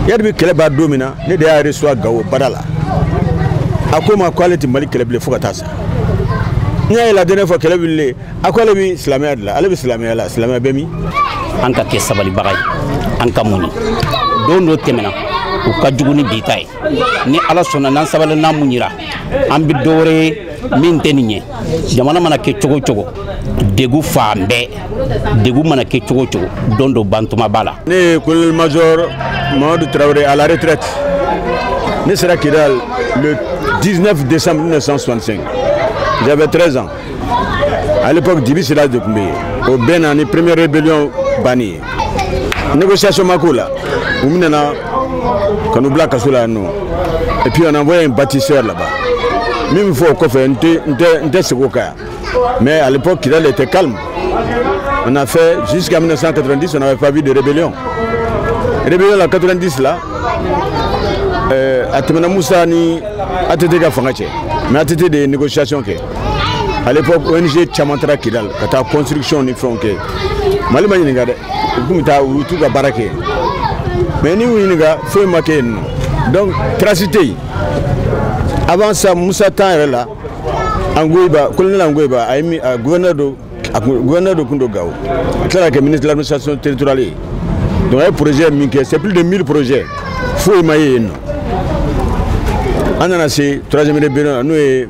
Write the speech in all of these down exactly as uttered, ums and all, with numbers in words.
Iyad bɛ kɛlɛ ban don min na, ne de y'a reçoit Gao bada la. A ko ma k'ale tɛ Mali kɛlɛ bilen fo ka taa sa. N y'a ye la dernière fois kɛlɛ wulilen, a ko ale bɛ silamɛya de la, ale bɛ silamɛya la, silamɛya bɛ min? An ka kɛ sabalibaga ye, an ka muɲu. Don dɔ tɛmɛna, u ka jugu ni bi ta ye. Ni Ala sɔnna, n'an sabali, n'an muɲira, an bɛ dɔ wɛrɛ ye min tɛ nin ye. Jamana mana kɛ cogo o cogo, degun fan bɛɛ, degun mana kɛ cogo o cogo, don dɔ bantuma b'a la. Ne ye colonel major Mamadou Traoré à la retraite. Ne sera Kidal le dix-neuf décembre mille neuf cent soixante-cinq. J'avais treize ans. À l'époque, Dibi Sila de tun bɛ yen. O bɛɛ na ni première rébellion banni ye. Négociation ma k'o la. U minɛna ka n'u bila kaso la yan nɔ. Et puis on a envoyé un bâtisseur là-bas. Min bɛ fɔ o kɔfɛ, n tɛ n tɛ n tɛ segin o kan yan. Mais à l'époque, Kidal était calme. On a fait jusqu'à mille neuf cent quatre-vingt-dix, on n'avait pas vu de rébellion. Rébellion la quatre-vingt-dix là, euh, a tɛmɛna Musa ni A T T ka fanga cɛ. Mais A T T de ye négociation kɛ. À l'époque, O N G caman taara Kidal ka taa construction ni fɛnw kɛ. Mali ma ɲininka dɛ, u kun bɛ taa u t'u ka baara kɛ. Mais n'i y'u ɲininka, foyi ma kɛ yen nɔ. Donc trace tɛ yen. Avant ça, Musa temps yɛrɛ la, Ongoiba, colonel Ongoiba, a ye min a gouverneur do, a kun gouverneur dɔ kun don Gao. A tilala ka kɛ ministre de l'administration territoriale ye. Donc a ye projet min kɛ, c'est plus de mille projets. Foyi ma ye yen nɔ. An nana se troisième rébellion la, n'o ye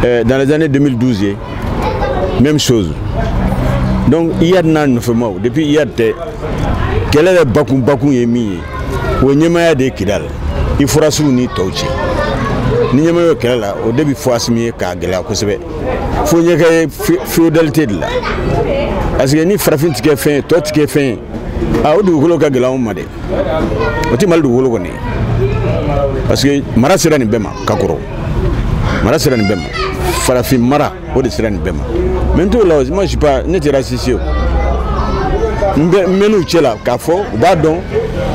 euh, dans les années deux mille douze ye, même chose. Donc Iyad n'a nɔfɛmaw, depuis Iyad tɛ, kɛlɛ yɛrɛ bakun bakun ye min ye, o ye ɲɛmaaya de ye Kidal, Iforasiw ni tɔw cɛ. Ni ɲɛmaaya ye kɛlɛ la, o de bɛ fɔ Asimi ye k'a gɛlɛya kosɛbɛ. Fo ɲɛ kɛ ye féodalité de la. Parce que ni farafin ti kɛ fɛn ye, tɔ ti kɛ fɛn ye, a o dugukolo ka gɛlɛn anw ma dɛ. O tɛ Mali dugukolo kɔni ye. Parce que mara sera nin bɛɛ ma ka kɔrɔ. Mara sera nin bɛɛ ma. Farafin mara, o de sera nin bɛɛ ma. Mais n t'o la, moi je suis pas, ne tɛ raciste ye o. N bɛ n bɛ n'u cɛ la k'a fɔ u b'a dɔn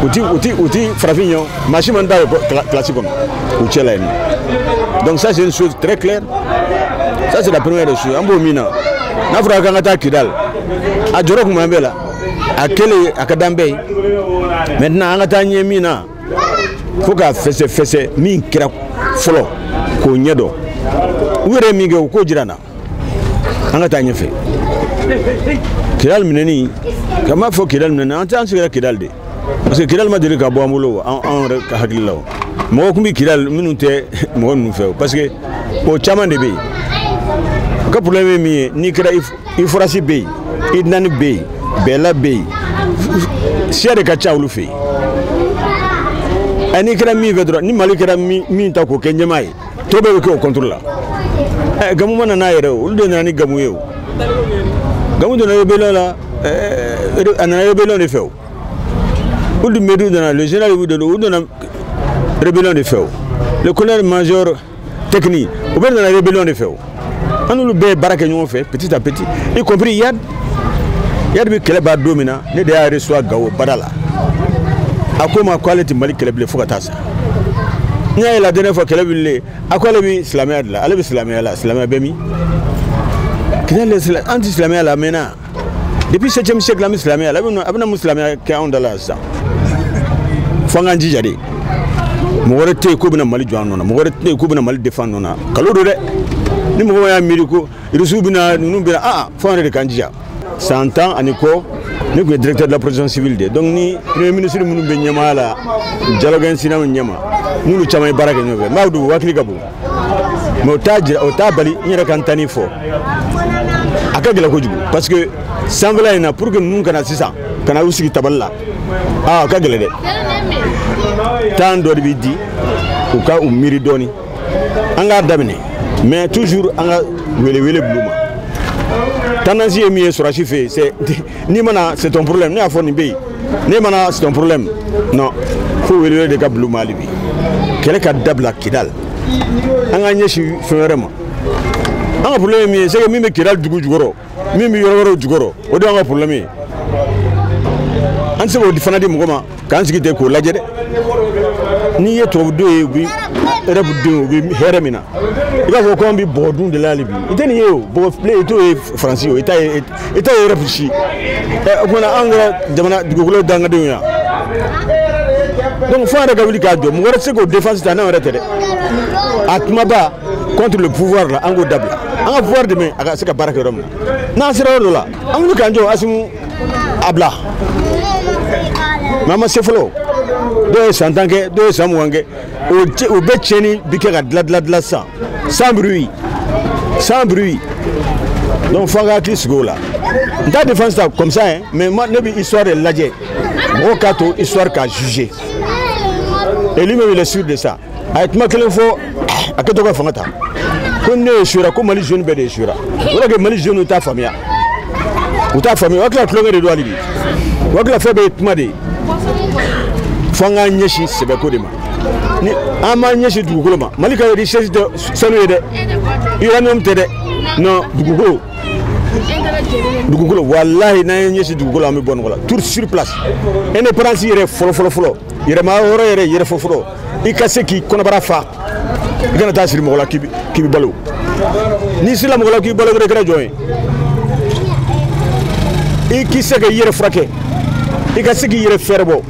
u ti u ti u ti farafin ye o. Maa si man da o kilasi kɔnɔ u cɛ la yen nɔ. Donc ça, c'est une chose très claire. Ça, c'est la première des choses. An b'o min na, n'a fɔra k'an ka taa Kidal, a jɔrɔ kun b'an bɛɛ la. A kɛlen a ka d'an bɛɛ ye. Maintenant, an ka taa ɲɛ min na, fo k'a fɛsɛ fɛsɛ min kɛra fɔlɔ k'o ɲɛ dɔn. U yɛrɛ ye min kɛ, u k'o jira n na. An ka taa ɲɛfɛ. Kidal minɛni, ka m'a fɔ Kidal minɛni, an tɛ an sigira Kidal de. Parce que Kidal ma deli ka bɔ an bolo an anw yɛrɛ ka hakili la o. Mɔgɔ kun bɛ Kidal minnu tɛ mɔgɔ ninnu fɛ o. Parce que o caman de bɛ yen. O ka problème ye min ye, n'i kɛra Iforasi bɛ yen, Idnani bɛ yen, Bɛla bɛ yen, siya de ka ca olu fɛ yen. Ɛ n'i kɛra min fɛ dɔrɔn, ni Mali kɛra min min ta k'o kɛ ɲɛmaa ye, tɔ bɛɛ bɛ kɛ o contre la. Ɛ Gamu ma na n'a yɛrɛ o, olu de nana ni Gamu ye o. Gamu donna rébellion la, ɛɛ a nana rébellion de fɛ o. Ould Medou nana, le général Ould Medou, o donna rébellion de fɛ o. Le colonel major Tekni, o bɛɛ nana rébellion de fɛ o. An n'olu bɛɛ ye baara kɛ ɲɔgɔn fɛ petit à petit, y compris Iyad. Iyad bɛ kɛlɛ ban don min na, ne de y'a reçoit Gao bada la. A ko ma k'ale tɛ Mali kɛlɛ bilen fo ka taa sa. N y'a ye la dernière fois kɛlɛ wulilen, a ko ale bɛ silamɛya de la, ale bɛ silamɛya la, silamɛya bɛ min? Kidal, an tɛ silamɛya la a mɛnna. Depuis septième siècle an bɛ silamɛya la, a bɛna a bɛna mun silamɛya kɛ anw da la sisan? Fo an k'an jija de. Mɔgɔ wɛrɛ tɛ yen k'o bɛna Mali jɔ an nɔ na, mɔgɔ wɛrɛ tɛ yen k'o bɛna Mali défendre nɔ na. Kalo don dɛ. Ni mɔgɔ y'a miiri ko Irisiw bɛna ninnu bɛna, ah, fo an yɛrɛ de k'an jija. San tan ani kɔ, ne tun ye directeur de la protection civile de ye. Donc ni premier ministre minnu bɛ ɲɛmaaya la, dialogue incident ɲɛma, n'olu caman ye baara kɛ ɲɔgɔn fɛ, n b'a dɔn u hakili ka bon. Mais o t'a jira, o t'a bali n yɛrɛ ka n tani fɔ. A ka gɛlɛn kojugu parce que sanfɛla in na, pour que ninnu kana sisan ka na u sigi tabali la, aa, a ka gɛlɛn dɛ. Temps dɔ de bɛ di u ka u miiri dɔɔni. An k'a daminɛ, mais toujours an ka welewele bil'u ma. Tendance ye min ye sɔrɔsi fɛ yen, c'est n'i mana, c'est ton problème. Ne y'a fɔ nin bɛ yen, ne mana, c'est ton problème. Non, fo welewele de ka bil'u ma hali bi. Kɛlɛ ka dabila Kidal, an k'an ɲɛsin fɛn wɛrɛ ma. An ka problème ye min ye, c'est que min bɛ Kidal dugu jukɔrɔ, min bɛ yɔrɔ wɛrɛw jukɔrɔ, o de y'an ka problème ye. An tɛ se k'o fana di mɔgɔ ma k'an sigi ten k'o lajɛ dɛ. N'i ye tubabudenw ye, u bɛ Europe denw, u bɛ hɛrɛ min na, i b'a fɔ ko an bɛ bɔgɔ dun de la hali bi. I tɛ nin ye o, bɔgɔ filen i t'o ye Faransi o, i t'a ye, i t'a ye Europe si. Ɛ o kumana, anw kɛra jamana dugukolo dangadenw ye. Donc fo an yɛrɛ ka wuli k'a jɔ, mɔgɔ wɛrɛ tɛ se k'o défense ta n'anw yɛrɛ tɛ dɛ. A kumaba contre le pouvoir la, an k'o dabila, an ka pouvoir dɛmɛ a ka se ka baara kɛ yɔrɔ min na. N'an sera yɔrɔ dɔ la, an wuli k'an jɔ, Assimi a bila. Mais an ma se fɔlɔ. Dɔw ye san tan kɛ, dɔw ye san mugan kɛ, o o bɛɛ tiɲɛni bi kɛ ka dilan dilan dilan sisan sans bruit, sans bruit. Donc fo an ka hakili sigi o la. N t'a défense ta comme ça hein, mais moi ne bɛ histoire de lajɛ, mɔgɔw k'a to histoire k'a juger. Et lui-même, il est sûr de ça. A ye kuma kelen fɔ a kɛtɔ ka fanga ta, ko ne échouera, ko Mali jeune bɛɛ de échouera. O de kɛ Mali jeune t'a faamuya, u t'a faamuya, o hakili la tulonkɛ de don hali bi, o hakili la fɛn bɛɛ ye kuma de ye. Fo an k'an ɲɛsin sɛbɛko de ma. Ni an m'an ɲɛsin dugukolo ma, Mali ka richesse tɛ sanu ye dɛ, uranium tɛ dɛ, non, dugukolo, dugukolo. Walahi, n'an ye ɲɛsin dugukolo, an bɛ bɔ nɔgɔ la tout sur place. Indépendance yɛrɛ fɔlɔ fɔlɔ fɔlɔ, yɛrɛma hɔrɔn yɛrɛ yɛrɛ fɔlɔ fɔlɔ, i ka se k'i kɔnɔbara fa, i kana taa siri mɔgɔ la k'i bɛ balo. N'i sirila mɔgɔ la k'i balo dɔrɔn, i kɛra jɔn ye. I k'i se ka i yɛrɛ furakɛ, i ka se k'i yɛrɛ fɛɛrɛ bɔ,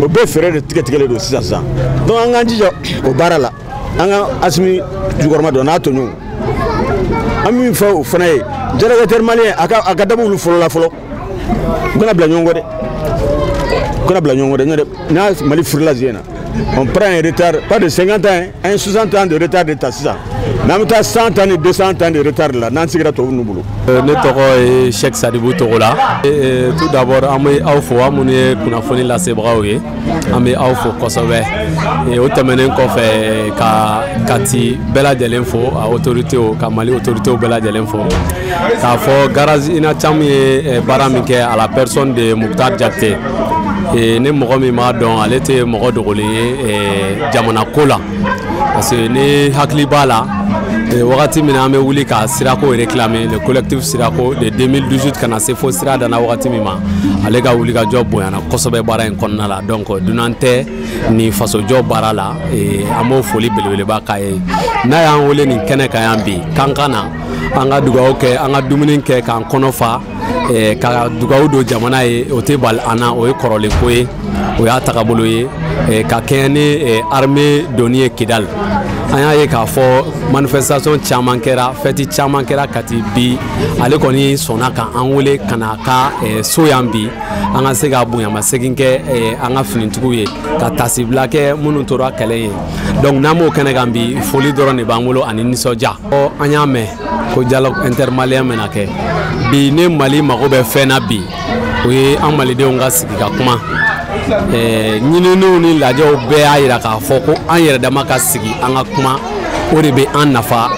o bɛɛ fɛɛrɛ de tigɛ tigɛlen don sisan sisan. Donc an k'an jija o baara la, an ka Assimi jukɔrɔma dɔn n'a tɔɲɔgɔnw. An min fɔ o fana ye dialogue malien, a ka a ka dabɔ olu fɔlɔ la fɔlɔ, u kana bila ɲɔgɔn kɔ dɛ, u kana bila ɲɔgɔn kɔ dɛ. N'o tɛ n'a Mali furula zen na, on prend un retard pas de cinquante ans, an ye soixante ans de retard de ta sisan, mais an bɛ taa cent ans ni deux cents ans de retard la n'an sigira tubabu ninnu bolo. Ne tɔgɔ ye Cheikh Sadibou Togola. Tout d'abord, an bɛ aw fo, aw minnu ye kunnafoni lasebagaw ye, an bɛ aw fo kosɛbɛ. O tɛmɛnen kɔfɛ, ka Kati bɛɛ lajɛlen fo, a autorités, ka Mali autorités bɛɛ lajɛlen fo, k'a fɔ garage Inacham ye baara min kɛ à la personne de Moctar Diakité. Ne mɔgɔ min b'a dɔn, ale tɛ mɔgɔ dogolen ye jamana ko la, parce que ne hakili b'a la wagati min na an bɛ wuli ka sirako réclamer, le collectif sirako de deux mille dix-huit ka na se fo sira danna wagati min ma, ale ka wuli ka jɔ bonyana kosɛbɛ baara in kɔnɔna la. Donc dunan tɛ nin fasojɔ baara la, an b'o foli belebeleba k'a ye. N'a y'an wele nin kɛnɛ kan yan bi, k'an ka na an ka dugawu kɛ, an ka dumuni kɛ k'an kɔnɔ fa, ka dugawu don jamana ye, o tɛ bali an na. O ye kɔrɔlen ko ye, o y'a tagabolo ye. Ka kɛɲɛ ni armée donni ye Kidali, an y'a ye k'a fɔ manifestation caman kɛra, fête caman kɛra Kati. Bi ale kɔni sɔnna ka an wele ka na a ka so yan bi, an ka se ka bonyamasegin kɛ an ka finitigiw ye, ka tasibila kɛ minnu tora kɛlɛ ye. Donc n'an b'o kɛnɛ kan bi, foli dɔrɔn de b'an bolo ani nisɔndiya. An y'a mɛn ko dialogue intermalien bɛna kɛ bi. Ne Mali mago bɛ fɛn na bi, o ye an malidenw ka sigi ka kuma. Ɲininiw ni lajɛw bɛɛ y'a yira k'a fɔ ko an yɛrɛ dama ka sigi an ka kuma, o de bɛ an nafa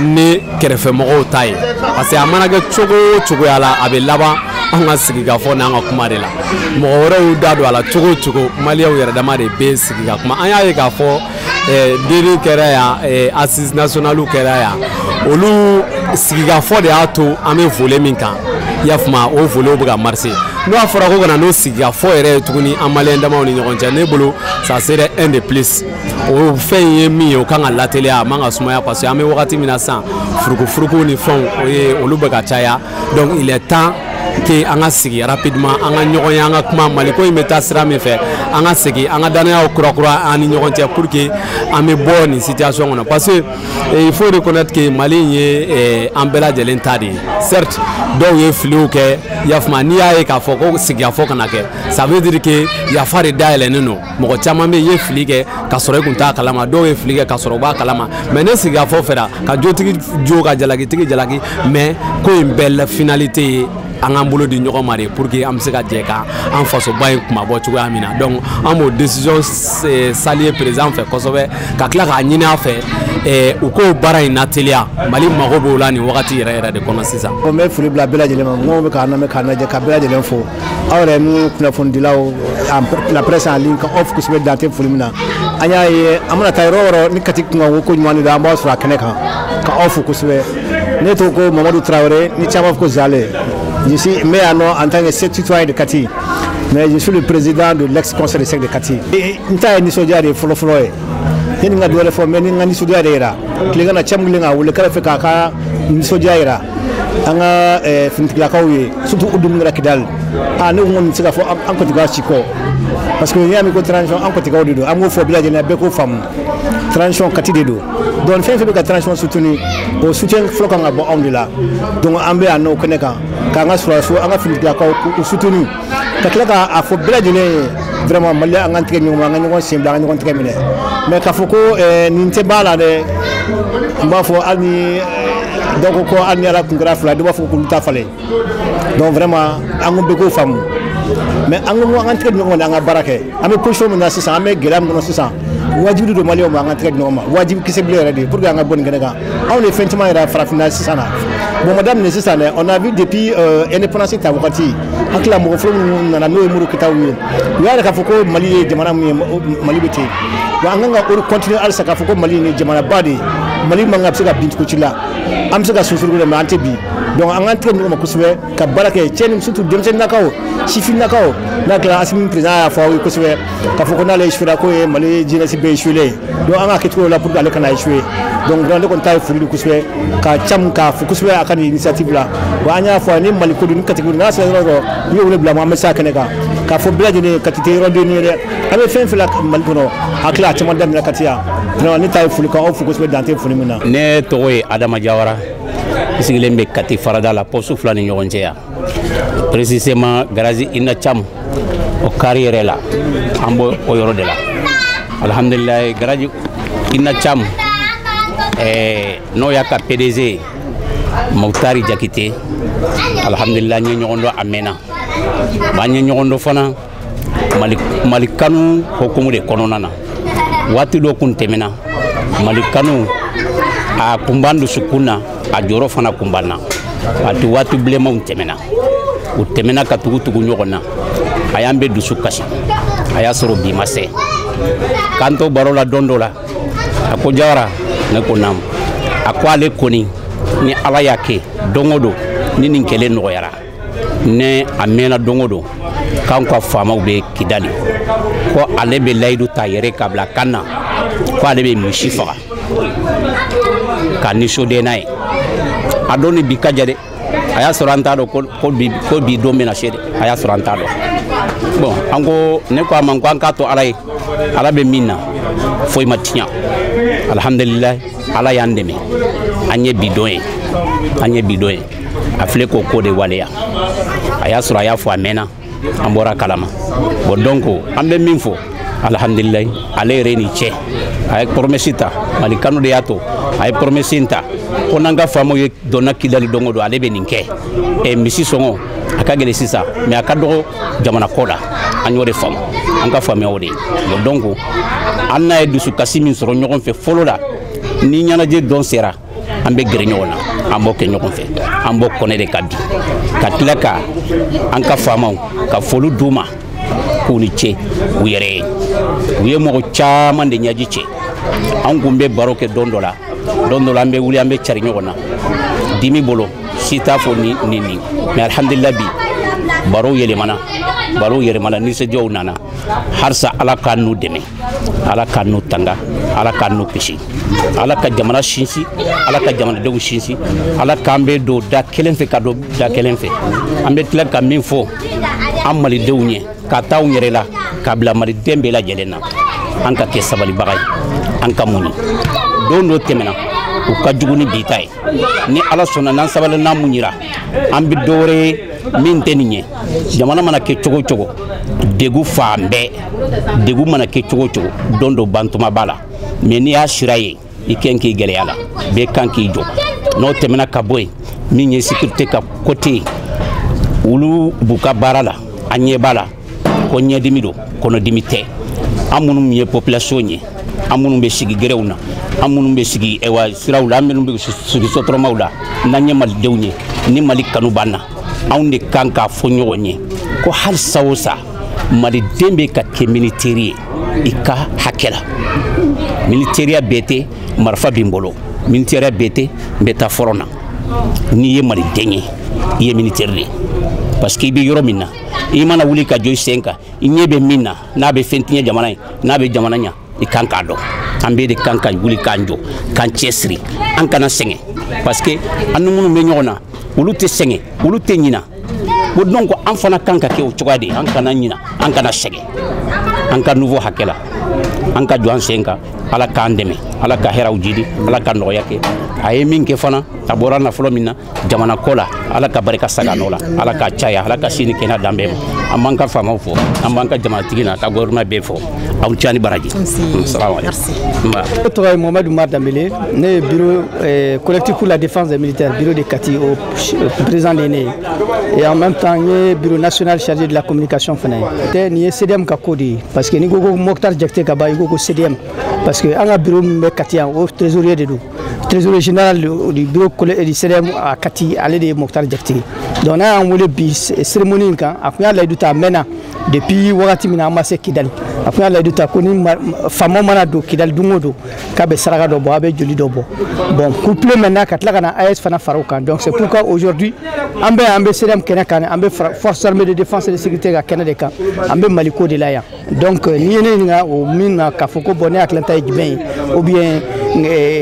ni kɛrɛfɛmɔgɔw ta ye, parce que a mana kɛ cogo o cogoya la, a bɛ laban an ka sigi ka fɔ n'an ka kuma de la. Mɔgɔ wɛrɛw y'u da don a la cogo o cogo, maliyɛnw yɛrɛ dama de bɛ sigi ka kuma. An y'a ye k'a fɔ D N kɛra yan, assises nationales kɛra yan, olu sigikafɔ de y'a to an bɛ volet min kan, i y'a faamu, o volet bɛ ka marcher. N'o y'a fɔra ko ka na n'o sigikafɔ yɛrɛ ye tuguni an maliyɛn damaw ni ɲɔgɔn cɛ, ne bolo ça serait un de plus. O fɛn in ye min ye, o kan ka lateliya, a man ka sumaya, parce que an bɛ wagati min na sisan, furukufuruku ni fɛnw, o ye olu bɛ ka caya. Donc il est temps que an ka sigi rapidement, an ka ɲɔgɔn ye, an ka kuma Maliko in bɛ taa sira min fɛ, an ka segin an ka danayaw kurakura an ni ɲɔgɔn cɛ pour que an bɛ bɔ nin situation kɔnɔ, parce que il faut reconnaître que Mali in ye an bɛɛ lajɛlen ta de ye. Certes, dɔw ye filiw kɛ, i y'a faamu. N'i y'a ye k'a fɔ ko sigikafɔ kana kɛ, ça veut dire que yafa de dayɛlɛnnen don. Mɔgɔ caman bɛ yen, i ye fili kɛ ka sɔrɔ i kun t'a kalama, dɔw ye fili kɛ ka sɔrɔ u b'a kalama. Mais ne sigikafɔ fɛra ka jotigi jo, ka jalakitigi jalaki, mais ko in bɛɛ la finalité ye an k'an bolo di ɲɔgɔn ma de, pour que an bɛ se ka jɛ ka an fasoba in kumabɔ cogoya min na. Donc an b'o décision saluer président fɛ kosɛbɛ, ka tila k'a ɲini a fɛ u k'o baara in nateliya. Mali mago b'o la nin wagati yɛrɛ yɛrɛ de kɔnɔ sisan. N bɛ foli bila bɛɛ lajɛlen ma, mɔgɔw bɛ k'an lamɛn, k'an lajɛ, ka bɛɛ lajɛlen fo. Aw yɛrɛ minnu kunnafonidilaw, la presse en ligne, ka aw fo kosɛbɛ, dan tɛ foli min na. An y'a ye an mana taa yɔrɔ o yɔrɔ ni Kati kunkan ko ɲuman de don, an b'aw sɔrɔ a kɛnɛ kan, ka aw fo kosɛbɛ. Ne tɔgɔ ko Mamadu Traoré, ni caman fɔ ko Zale. Je suis mais en tant que citoyen de Kati, mais je suis le président de l'ex-conseil de cercle de Kati. N ta ye nisɔndiya de ye fɔlɔ fɔlɔ ye. Ne ni n ka dɔ wɛrɛ fɔ, mais ni n ka nisɔndiya de yira. Tilegan na, cɛ min kelen k'a wele k'a bɛ fɛ k'a ka nisɔndiya yira. An ka finitigilakaw ye, surtout u dun kɛra Kidali. Ah, ne ko nin tɛ se ka fɔ an Kɔtigaw si kɔ, parce que n'i y'a mɛn ko transition, an Kɔtigaw de don. An k'o fɔ bɛɛ lajɛlen, bɛɛ k'o faamu, transition Kati de don. Donc fɛn fɛn bɛ ka transition soutenir, o soutien fɔlɔ kan ka bɔ anw de la. Donc an bɛ yan nɔ o kɛnɛ kan k'an ka sɔrɔdasiw, an ka finitigilakaw k'u soutenir, ka tila k'a fɔ bɛɛ lajɛlen ye vraiment, Mali, an k'an tigɛ ɲɔgɔn ma, an ka ɲɔgɔn sen bila, an ka ɲɔgɔn tigɛ minɛ. Mais k'a fɔ ko nin tɛ ba la dɛ, n b'a fɔ hali ni dɔw ko ko hali ni Ala kun kɛra fila, dɔw b'a fɔ k'olu ta falen. Donc vraiment, an ko bɛɛ k'o faamu, mais an ko an ka tigɛ di ɲɔgɔn ma, an ka baara kɛ. An bɛ position min na sisan, an bɛ gɛlɛya min kɔnɔ sisan, wajibi don Maliyɛnw ma an ka tigɛ di ɲɔgɔn ma, wajibi kisɛ bilen yɛrɛ de, pour que an ka bɔ nin kɛnɛ kan. Anw de ye fɛn caman yɛrɛ farafinna sisan na. Bon, ma daminɛ sisan dɛ, on a vu depuis euh, indépendance ta wagati, hakili la mɔgɔ fɔlɔ minnu nana, n'o ye Modibo Keyitaw ye, u y'a yɛrɛ k'a fɔ ko Mali ye jamana min ye, Mali bɛ ten wa. An kan ka o continuer halisa k'a fɔ ko Mali ye jamanaba de ye. Mali man kan ka se ka bin cogo ci la. An bɛ se ka sunsuruku dɛ, mais an tɛ bin. Donc an k'an tigɛ ɲɔgɔn ma kosɛbɛ ka baara kɛ, cɛ ni surtout denmisɛnninnakaw, sifinnakaw. N'a kɛra Asimi président y'a fɔ aw ye kosɛbɛ k'a fɔ ko n'ale échoué, k'o ye Mali jeunesse bɛɛ échoué. Donc an k'a kɛ cogo la pour que ale kana échoué. Donc vraiment, ne kɔni ta ye foli de kosɛbɛ ka camu k'a fo kosɛbɛ a ka nin initiative la. Wa an y'a fɔ ni Mali ko don, ni Kati ko don, n'a sera yɔrɔ o yɔrɔ, n'i ye wele bila ma, an bɛ se a kɛnɛ kan k'a fɔ bɛɛ lajɛlen, Kati tɛ yɔrɔ den ye dɛ. An bɛ fɛn fɛn la Mali kɔnɔ, hakili a caman daminɛ Kati yan. Vraiment, ne ta ye foli k'aw fo kosɛbɛ, dan tɛ foli min na. Ne tɔgɔ ye Adama Jawara, n sigilen bɛ Kati farada la, poste fila ni ɲɔgɔn cɛ yan, précisément garage Ina Cam, o kari yɛrɛ la, an b'o o yɔrɔ de la. Alhamdulilayi, garage Ina Cam ɛɛ n'o y'a ka P D G ye, Mokutari Jakite, alhamdulilayi, n ye ɲɔgɔn dɔn a mɛnna. An ye ɲɔgɔn dɔn fana Mali, Mali kanu hokumu de kɔnɔna na. Waati dɔ kun tɛmɛna, Mali kanu a kun b'an dusukun na, a jɔyɔrɔ fana kun b'an na. Waati waati bilenmanw tɛmɛna, u tɛmɛna ka tugu tugu ɲɔgɔn na, a y'an bɛ dusu kasi. A y'a sɔrɔ bi ma se k'an to baro la don dɔ la, a ko: "Jawara." Ne ko: "Naamu." A ko ale kɔni, ni Ala y'a kɛ don o don ni nin kɛlɛ nɔgɔyara, ne a mɛnna don o don k'an ka faamaw bɛ Kidali, ko ale bɛ layidu ta yɛrɛ ka bila kan na, ko ale bɛ misi faga ka nisɔndiya n'a ye. A don ni bi ka ja dɛ. A y'a sɔrɔ an t'a dɔn ko bi ko bi don bɛna se dɛ. A y'a sɔrɔ an t'a dɔn. Bon, an ko, ne ko a ma ko an k'a to Ala ye, Ala bɛ min na foyi ma tiɲɛ. Alhamdulilayi, Ala y'an dɛmɛ, an ye bi don ye, an ye bi don ye. A filɛ k'o ko de waleya. A y'a sɔrɔ a y'a fɔ a mɛnna, an bɔra kalama. Bon, donc an bɛ min fɔ, alhamdulilayi, ale yɛrɛ ni cɛ, a ye promesse ta. Mali kanu de y'a to a ye promesse in ta, ko n'an ka faamaw ye donna Kidali don o don, ale bɛ nin kɛ. Ɛ, misi sɔngɔ a ka gɛlɛn sisan, mais a ka dɔgɔ jamana kɔ la. An y'o de faamu, an ka faamuya o de ye. Bon, donc an n'a ye dusukasi min sɔrɔ ɲɔgɔn fɛ fɔlɔ la, ni ɲɛnajɛ dɔn sera, an bɛ gɛrɛ ɲɔgɔn na, an b'o kɛ ɲɔgɔn fɛ, an b'o kɔnɛ de ka bi ka tila ka an ka faamaw ka foli d'u ma k'u ni ce u yɛrɛ ye. U ye mɔgɔ caman de ɲɛji cɛ. An kun bɛ baro kɛ don dɔ la, don dɔ la an bɛ wuli, an bɛ cari ɲɔgɔn na dimi bolo, si t'a fɔ ni nin nin. Mais alhamdulillah, bi baro yɛlɛmana, baro yɛlɛmana, nisɔndiyaw nana. Halisa Ala k'an n'u dɛmɛ, Ala k'an n'u tanga, Ala k'an n'u kisi, Ala ka jamana sinsin, Ala ka jamanadenw sinsin, Ala k'an bɛ don da kelen fɛ ka don da kelen fɛ. An bɛ tila ka min fɔ an malidenw ye, ka taa anw yɛrɛ la k'a bila maliden bɛɛ lajɛlen na, an ka kɛ sabalibaga ye, an ka muɲu. Don dɔ tɛmɛna, u ka jugu ni bi ta ye. Ni Ala sɔnna, n'an sabali, n'an muɲira, an bɛ dɔ wɛrɛ ye min tɛ nin ye. Jamana mana kɛ cogo o cogo, degun fan bɛɛ, degun mana kɛ cogo o cogo, don dɔ bantuma b'a la. Mais n'i y'a sira ye, i kɛn k'i gɛlɛya la, bɛɛ kan k'i jɔ. N'o tɛmɛna ka bɔ yen, min ye sécurité ka côté ye, olu b'u ka baara la, an ɲɛ b'a la ko ɲɛdimi don, kɔnɔdimi tɛ. An minnu ye population ye, an minnu bɛ sigi gɛrɛw na, an minnu bɛ sigi ɛwa siraw la, an minnu bɛ sigi sotramaw la, n'an ye malidenw ye, ni Mali kanu b'an na, anw de kan k'a fɔ ɲɔgɔn ye ko hali sa o sa, maliden bɛ ka kɛ militaire ye i ka hakɛ la. Militaire bɛɛ tɛ marifa b'i bolo, militaire bɛɛ tɛ n bɛ taa front na. N'i ye maliden ye, i ye militaire de ye, parce que i bɛ yɔrɔ min na, i mana wuli ka jɔ i sen kan, i ɲɛ bɛ min na, n'a bɛ fɛn tiɲɛ jamana ye, n'a bɛ jamana ɲa, i kan k'a dɔn. An bɛɛ de kan ka wuli k'an jɔ, k'an cɛsiri, an kana sɛgɛn, parce que an ni minnu bɛ ɲɔgɔn na. Olu tɛ sɛgɛn, olu tɛ ɲina. Ko donc an fana kan ka kɛ o cogoya de ye, an kana ɲina, an kana sɛgɛn, an ka nouveau hakɛ la, an ka jɔ an sen kan. Ala k'an dɛmɛ, Ala ka hɛrɛw jidi, Ala ka nɔgɔya kɛ. A ye min kɛ fana, a bɔra nafolo min na jamana ko la, Ala ka barika saga nɔ la, Ala ka caya, Ala ka sini kɛnɛ dan bɛɛ ma. An b'an ka faamaw fɔ, an b'an ka jamanatigi n'a ka gouvernement bɛɛ fɔ. Aw ca ni baraji. Salamu aleykum. Ne tɔgɔ ye Mohamed Oumar Dambélé, ne ye bureau euh, collectif pour la défense des militaires, bureau de Kati, au président de ne ye. Et en même temps n ye bureau national chargé de la communication fana ye. Tɛ nin ye C D M ka ko de ye, parce que n'i ko ko Mokhtar Diakité ka ban, i ko ko C D M, parce que an ka bureau min bɛ Kati yan, o trésorier de don, trésorier général du bureau du C D M à Kati, ale de ye Mokhtar Diakité. Donc n'a y'an wele bi cérémonie in kan, a kun y'a layidu ta a mɛnna. Depuis wagati min na an ma se Kidali, a kun y'a layidu ta ko ni faamaw mana don Kidali don o don, k'a bɛ saraka dɔ bɔ, a bɛ joli dɔ bɔ. Bon, couplé maintenant ka tila ka na A E S fana fara o kan. Donc c'est pourquoi aujourd'hui an bɛ an bɛ C D M kɛnɛ kan, an bɛ force armée de défense et de sécurité ka kɛnɛ de kan, an bɛ Mali ko de la yan. Donc n'i ye ne ɲininka o min na k'a fɔ ko bon, ne hakilinata ye jumɛn ye, ou bien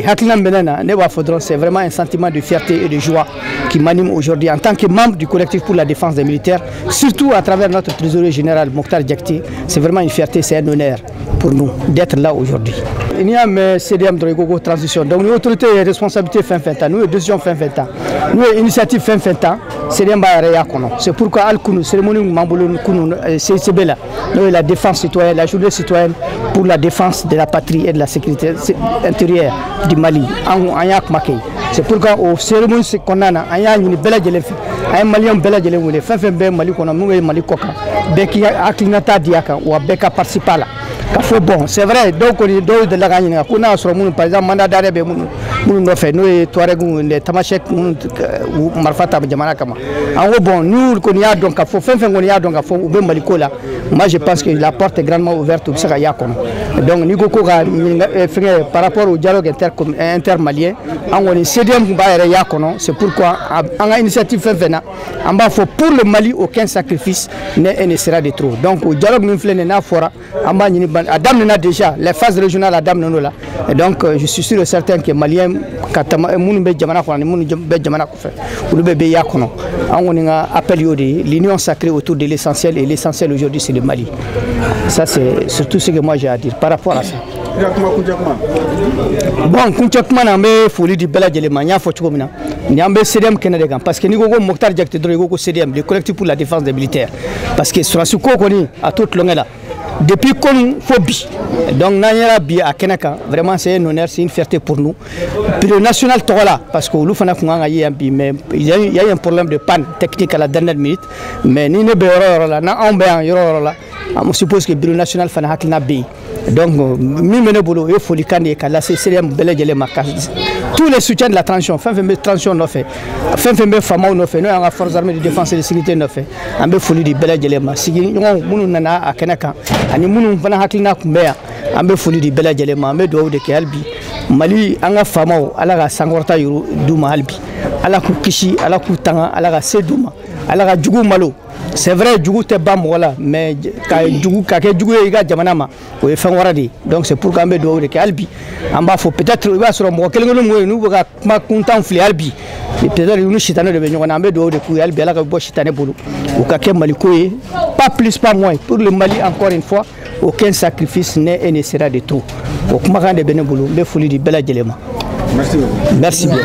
hakilina min bɛ ne na, ne b'a fɔ dɔrɔn c'est vraiment un sentiment de fierté et de joie qui m'anime aujourd'hui en tant que membre du collectif pour la défense des militaires, surtout à travers notre trésorier général Mokhtar Diakité. C'est vraiment une fierté, c'est un honneur pour nous d'être là aujourd'hui. N'i y'a mɛn C D M dɔrɔn, i ko ko transition. Donc ni autorité ye responsabilité fɛn fɛn ta, n'u ye décision fɛn fɛn ta, n'u ye initiative fɛn fɛn ta, C D M b'a yɛrɛ y'a kɔnɔ. C'est pourquoi hali kunu, cérémonie min b'an bolo kunu C I C B la, n'o ye la défense citoyenne, la journée citoyenne pour la défense de la patrie et de la sécurité intérieure du Mali, an an y'a kuma kɛ. C'est pourquoi o cérémonie kɔnɔna na, an y'a ɲini bɛɛ lajɛlen fɛ, an ye maliyɛn bɛɛ lajɛlen wele, fɛn fɛn bɛ Mali kɔnɔ, mun bɛ Mali kɔ kan, bɛɛ k'i hakilinata di a kan, wa bɛɛ ka participer a la. Ka fɔ bon, c'est vrai, dɔw kɔni, dɔw delila k'an ɲininka ko n'a y'a sɔrɔ minnu, par exemple mandat d'arrêt bɛ minnu minnu nɔfɛ, n'o ye Touareg, les Tamasek minnu marifa ta jamana kama, an ko bon, n'u kɔni y'a dɔn ka fɔ fɛn fɛn kɔni y'a dɔn ka fɔ u bɛ Mali ko la, moi je pense que la porte est grandement ouverte, u bɛ se ka y'a kɔnɔ. Donc n'i ko ko ka ɲininka fɛngɛ par rapport au dialogue inter intermalien, an kɔni C D M tun b'a yɛrɛ y'a kɔnɔ. C'est pourquoi an ka initiative fɛn fɛn na, an b'a fɔ pour le Mali, aucun sacrifice n'est et ne sera de trop. Donc o dialogue min filɛ nin ye, n'a fɔra, an b'a ɲini, a daminɛna déjà, les phases régionales a daminɛ la. Et donc je suis sûr et certain que malien ka tama minnu bɛ jamana kɔnɔ ani minnu bɛ jamana kɔfɛ, olu bɛɛ bɛ y'a kɔnɔ. An kɔni ka appel y'o de ye, l'union sacrée autour de l'essentiel, et l'essentiel aujourd'hui, c'est le Mali. Ça, c'est surtout ce que moi j'ai à dire par rapport à ça. Bon, kuncɛ kuma na, an bɛ foli di bɛɛ lajɛlen ma. N y'a fɔ cogo min na, ni an bɛ C D M kɛnɛ de kan, parce que n'i ko ko Mokhtar Diakité dɔrɔn, i ko ko C D M, le collectif pour la défense des militaires, parce que sɔrɔsi ko kɔni a t'o tulonkɛ la depuis konu fo bi. Donc n'an yɛrɛ bi a kɛnɛ kan, vraiment c'est un honneur, c'est une fierté pour nous. Bureau national tɔgɔ la, parce que olu fana kun kan ka ye yan bi, mais il y a eu, il y a eu un problème de panne technique à la dernière minute. Mais ni ne bɛ yɔrɔ yɔrɔ la, n'anw bɛ yan yɔrɔ yɔrɔ la, on suppose que bureau national fana hakilina bɛ yen. Donc min bɛ ne bolo, o ye folikan de ye ka lase C D M bɛɛ lajɛlen ma, ka tous les soutiens de la transition, fɛn fɛn bɛ transition nɔfɛ, fɛn fɛn bɛ faamaw nɔfɛ, n'o y'an ka forces armées de défense et de sécurité nɔfɛ, an bɛ foli di bɛɛ lajɛlen ma. Sigiɲɔgɔnw minnu nana a kɛnɛ kan ani minnu fana hakilina tun bɛ yan, an bɛ foli di bɛɛ lajɛlen ma. An bɛ dugawu de kɛ hali bi Mali, an ka faamaw, Ala ka sankɔrɔta yuru d'u ma hali bi, Ala k'u kisi, Ala k'u tanga, Ala ka se d'u ma, Ala ka jugu malo. C'est vrai, jugu tɛ ban mɔgɔ la, mais ka jugu ka kɛ jugu ye i ka jamana ma, o ye fɛn wɛrɛ de ye. Donc c'est pourquoi an bɛ dugawu de kɛ hali bi. An b'a fɔ peut-être i b'a sɔrɔ mɔgɔ kelen kelen minnu n'u bɛ ka kuma kuntan fili hali bi, peut-être u ni sitanɛ de bɛ ɲɔgɔn na. An bɛ dugawu de k'u ye hali bi, Ala ka bɔ sitanɛ bolo, u ka kɛ Maliko ye, pas plus pas moins, pour le Mali. Encore une fois, aucun sacrifice n'est et ne sera de trop. O kumakan de bɛ ne bolo, n bɛ foli di bɛɛ lajɛlen ma. Merci beaucoup. Merci bien.